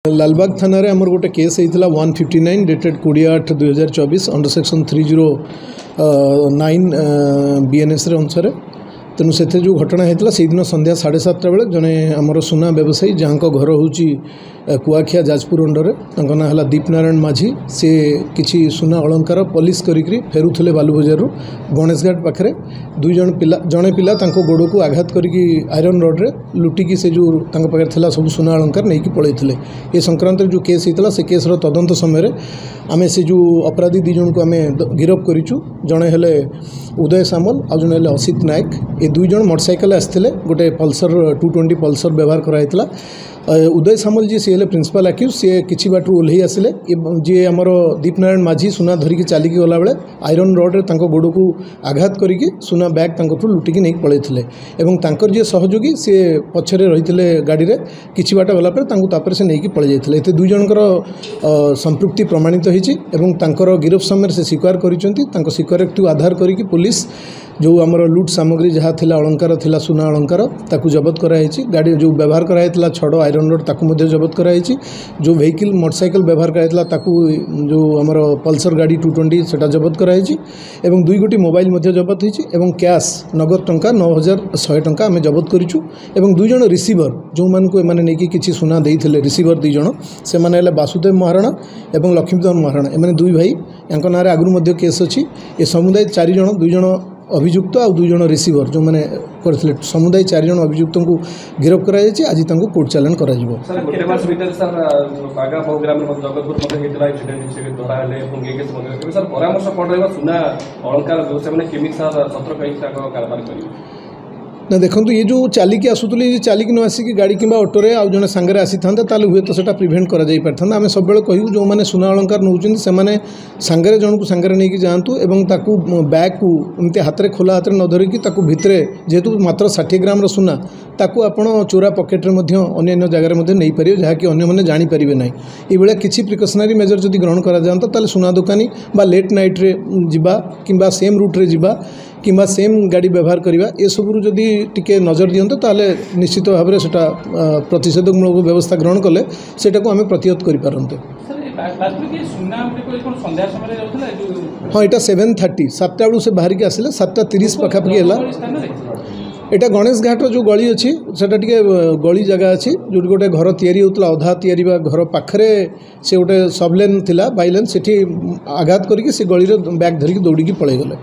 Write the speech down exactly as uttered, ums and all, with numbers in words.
ଲାଲବାଗ ଥାନାରେ ଆମର ଗୋଟେ କେସ୍ ହେଇଥିଲା ୱାନ୍ ଫିଫ୍ଟି ନାଇନ୍ ଡେଟେଡ୍ କୋଡ଼ିଏ ଆଠ ଦୁଇହଜାର ଚବିଶ under section three zero nine ବିଏନ୍ଏସ୍ର ଅନୁସାରେ ତେଣୁ ସେଥିରେ ଯେଉଁ ଘଟଣା ହେଇଥିଲା ସେଇଦିନ ସନ୍ଧ୍ୟା ସାଢ଼େ ସାତଟା ବେଳେ ଜଣେ ଆମର ସୁନା ବ୍ୟବସାୟୀ ଯାହାଙ୍କ ଘର ହେଉଛି କୁଆଖିଆ ଯାଜପୁର ଅଣ୍ଡରରେ ତାଙ୍କ ନାଁ ହେଲା ଦୀପନାରାୟଣ ମାଝୀ ସେ କିଛି ସୁନା ଅଳଙ୍କାର ପଲିସ୍ କରିକିରି ଫେରୁଥିଲେ ବାଲୁବଜାରରୁ ଗଣେଶଘାଟ ପାଖରେ ଦୁଇ ଜଣ ପିଲା ଜଣେ ପିଲା ତାଙ୍କ ଗୋଡ଼କୁ ଆଘାତ କରିକି ଆଇରନ୍ ରଡ଼୍ରେ ଲୁଟିକି ସେ ଯେଉଁ ତାଙ୍କ ପାଖରେ ଥିଲା ସବୁ ସୁନା ଅଳଙ୍କାର ନେଇକି ପଳେଇଥିଲେ ଏ ସଂକ୍ରାନ୍ତରେ ଯେଉଁ କେସ୍ ହେଇଥିଲା ସେ କେସ୍ର ତଦନ୍ତ ସମୟରେ ଆମେ ସେ ଯେଉଁ ଅପରାଧୀ ଦୁଇ ଜଣଙ୍କୁ ଆମେ ଗିରଫ କରିଛୁ ଜଣେ ହେଲେ ଉଦୟ ସାମଲ ଆଉ ଜଣେ ହେଲେ ଅସିତ ନାୟକ ଏ ଦୁଇ ଜଣ ମୋଟରସାଇକେଲ ଆସିଥିଲେ ଗୋଟେ ପଲସର ଟୁ ଟ୍ୱେଣ୍ଟି ପଲସର ବ୍ୟବହାର କରାହେଇଥିଲା ଉଦୟ ସାମଲ ଯିଏ ସିଏ ହେଲେ ପ୍ରିନ୍ସିପାଲ୍ ଆକ୍ୟୁଜ୍ ସିଏ କିଛି ବାଟରୁ ଓହ୍ଲେଇ ଆସିଲେ ଯିଏ ଆମର ଦୀପନାରାୟଣ ମାଝୀ ସୁନା ଧରିକି ଚାଲିକି ଗଲାବେଳେ ଆଇରନ୍ ରଡ଼୍ରେ ତାଙ୍କ ଗୋଡ଼କୁ ଆଘାତ କରିକି ସୁନା ବ୍ୟାଗ୍ ତାଙ୍କଠୁ ଲୁଟିକି ନେଇକି ପଳେଇଥିଲେ ଏବଂ ତାଙ୍କର ଯିଏ ସହଯୋଗୀ ସିଏ ପଛରେ ରହିଥିଲେ ଗାଡ଼ିରେ କିଛି ବାଟ ଗଲା ପରେ ତାଙ୍କୁ ତାପରେ ସେ ନେଇକି ପଳେଇ ଯାଇଥିଲେ ଏତେ ଦୁଇ ଜଣଙ୍କର ସମ୍ପୃକ୍ତି ପ୍ରମାଣିତ ହେଇଛି ଏବଂ ତାଙ୍କର ଗିରଫ ସମୟରେ ସେ ସ୍ୱୀକାର କରିଛନ୍ତି ତାଙ୍କ ସ୍ୱୀକାରୋକ୍ତିକୁ ଆଧାର କରିକି ପୋଲିସ ଯେଉଁ ଆମର ଲୁଟ୍ ସାମଗ୍ରୀ ଯାହା ଥିଲା ଅଳଙ୍କାର ଥିଲା ସୁନା ଅଳଙ୍କାର ତାକୁ ଜବତ କରାଯାଇଛି ଗାଡ଼ି ଯେଉଁ ବ୍ୟବହାର କରାଯାଇଥିଲା ଛଡ଼ ଆଇରନ୍ ରଡ଼୍ ତାକୁ ମଧ୍ୟ ଜବତ କରାଯାଇଛି ଯେଉଁ ଭେହିକିଲ୍ ମୋଟରସାଇକେଲ ବ୍ୟବହାର କରାଯାଇଥିଲା ତାକୁ ଯେଉଁ ଆମର ପଲସର ଗାଡ଼ି ଟୁ ଟ୍ୱେଣ୍ଟି ସେଟା ଜବତ କରାଯାଇଛି ଏବଂ ଦୁଇ ଗୋଟି ମୋବାଇଲ ମଧ୍ୟ ଜବତ ହେଇଛି ଏବଂ କ୍ୟାସ୍ ନଗଦ ଟଙ୍କା ନଅ ହଜାର ଶହେ ଟଙ୍କା ଆମେ ଜବତ କରିଛୁ ଏବଂ ଦୁଇ ଜଣ ରିସିଭର ଯେଉଁମାନଙ୍କୁ ଏମାନେ ନେଇକି କିଛି ସୁନା ଦେଇଥିଲେ ରିସିଭର ଦୁଇ ଜଣ ସେମାନେ ହେଲେ ବାସୁଦେବ ମହାରଣା ଏବଂ ଲକ୍ଷ୍ମୀଧର ମହାରଣା ଏମାନେ ଦୁଇ ଭାଇ ୟାଙ୍କ ନାଁରେ ଆଗରୁ ମଧ୍ୟ କେସ୍ ଅଛି ଏ ସମୁଦାୟ ଚାରି ଜଣ ଦୁଇ ଜଣ ଅଭିଯୁକ୍ତ ଆଉ ଦୁଇ ଜଣ ରିସିଭର ଯେଉଁମାନେ କରିଥିଲେ ସମୁଦାୟ ଚାରି ଜଣ ଅଭିଯୁକ୍ତଙ୍କୁ ଗିରଫ କରାଯାଇଛି ଆଜି ତାଙ୍କୁ କୋର୍ଟ ଚାଲାଣ କରାଯିବ ସାର୍ ଗୋଟେ ମାସ ଭିତରେ ସାର୍ ବାଗା ବହୁଗ୍ରାମରେ ମଧ୍ୟ ଜଗତପୁର ମଧ୍ୟ ହେଇଥିଲା ଇନସିଡେଣ୍ଟ ସେ ଧରା ହେଲେ ଏବଂ ଏ କେସ୍ ମଧ୍ୟ ତେବେ ସାର୍ ପରାମର୍ଶ କ'ଣ ରହିବ ସୁନା ଅଳଙ୍କାର ବ୍ୟବସାୟୀମାନେ କେମିତି ସାର୍ ସତର୍କ ହେଇକି ତାଙ୍କ କାରବାର କରିବେ ନା ଦେଖନ୍ତୁ ଇଏ ଯେଉଁ ଚାଲିକି ଆସୁଥିଲେ ଇଏ ଚାଲିକି ନ ଆସିକି ଗାଡ଼ି କିମ୍ବା ଅଟୋରେ ଆଉ ଜଣେ ସାଙ୍ଗରେ ଆସିଥାନ୍ତା ତାହେଲେ ହୁଏତ ସେଇଟା ପ୍ରିଭେଣ୍ଟ କରାଯାଇପାରିଥାନ୍ତା ଆମେ ସବୁବେଳେ କହିବୁ ଯେଉଁମାନେ ସୁନା ଅଳଙ୍କାର ନେଉଛନ୍ତି ସେମାନେ ସାଙ୍ଗରେ ଜଣକୁ ସାଙ୍ଗରେ ନେଇକି ଯାଆନ୍ତୁ ଏବଂ ତାକୁ ବ୍ୟାଗ୍କୁ ଏମିତି ହାତରେ ଖୋଲା ହାତରେ ନ ଧରିକି ତାକୁ ଭିତରେ ଯେହେତୁ ମାତ୍ର ଷାଠିଏ ଗ୍ରାମର ସୁନା ତାକୁ ଆପଣ ଚୋରା ପକେଟ୍ରେ ମଧ୍ୟ ଅନ୍ୟାନ୍ୟ ଜାଗାରେ ମଧ୍ୟ ନେଇପାରିବେ ଯାହାକି ଅନ୍ୟମାନେ ଜାଣିପାରିବେ ନାହିଁ ଏଇଭଳିଆ କିଛି ପ୍ରିକସନାରୀ ମେଜର ଯଦି ଗ୍ରହଣ କରାଯାଆନ୍ତା ତାହେଲେ ସୁନା ଦୋକାନୀ ବା ଲେଟ୍ ନାଇଟ୍ରେ ଯିବା କିମ୍ବା ସେମ୍ ରୁଟ୍ରେ ଯିବା କିମ୍ବା ସେମ୍ ଗାଡ଼ି ବ୍ୟବହାର କରିବା ଏସବୁରୁ ଯଦି ଟିକେ ନଜର ଦିଅନ୍ତେ ତାହେଲେ ନିଶ୍ଚିତ ଭାବରେ ସେଇଟା ପ୍ରତିଷେଧକମୂଳକ ବ୍ୟବସ୍ଥା ଗ୍ରହଣ କଲେ ସେଇଟାକୁ ଆମେ ପ୍ରତିହତ କରିପାରନ୍ତେ ହଁ ଏଇଟା ସେଭେନ୍ ଥାର୍ଟି ସାତଟା ବେଳକୁ ସେ ବାହାରିକି ଆସିଲେ ସାତଟା ତିରିଶ ପାଖାପାଖି ହେଲା ଏଇଟା ଗଣେଶ ଘାଟର ଯେଉଁ ଗଳି ଅଛି ସେଟା ଟିକେ ଗଳି ଜାଗା ଅଛି ଯେଉଁଠି ଗୋଟେ ଘର ତିଆରି ହେଉଥିଲା ଅଧା ତିଆରି ବା ଘର ପାଖରେ ସେ ଗୋଟେ ସବଲେନ୍ ଥିଲା ବାଇଲେନ୍ ସେଠି ଆଘାତ କରିକି ସେ ଗଳିରେ ବ୍ୟାଗ୍ ଧରିକି ଦୌଡ଼ିକି ପଳେଇଗଲେ।